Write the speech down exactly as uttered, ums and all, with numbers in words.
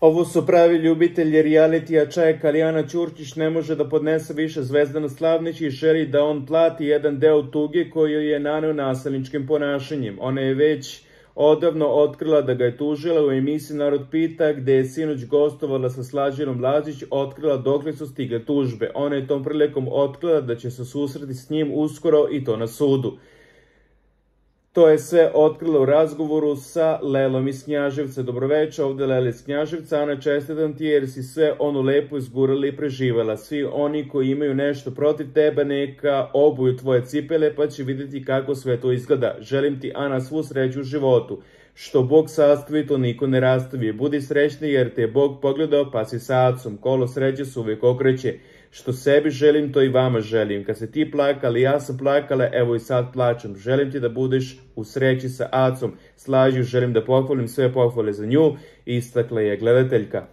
Ovo su pravi ljubitelji realitija čeka, Kalijana Ćurčić ne može da podnese više Zvezdana Slavnić i želi da on plati jedan deo tuge koju je naneo nasilničkim ponašanjem. Ona je već odavno otkrila da ga je tužila. U emisiji Narod pita, gde je sinoć gostovala sa Slađanom Lazić, otkrila dokle su stigle tužbe. Ona je tom prilikom otkrila da će se susreti s njim uskoro i to na sudu. To je sve otkrila u razgovoru sa Lelom iz Knjaževca. Dobroveče, ovde Lela iz Knjaževca. Ana, čestitam ti jer si sve ono lepo izgurala i preživala. Svi oni koji imaju nešto protiv tebe neka obuju tvoje cipele pa će vidjeti kako sve to izgleda. Želim ti, Ana, svu sreću u životu. Što Bog sastavi, to niko ne rastavi. Budi srećni jer te je Bog pogledao pa si sa acom. Kolo sreće se uvijek okreće. Što sebi želim, to i vama želim. Kad se ti plakali, ja sam plakala, evo i sad plačem. Želim ti da budeš u sreći sa acom. Slađu, želim da pohvalim sve pohvale za nju, istakla je gledateljka.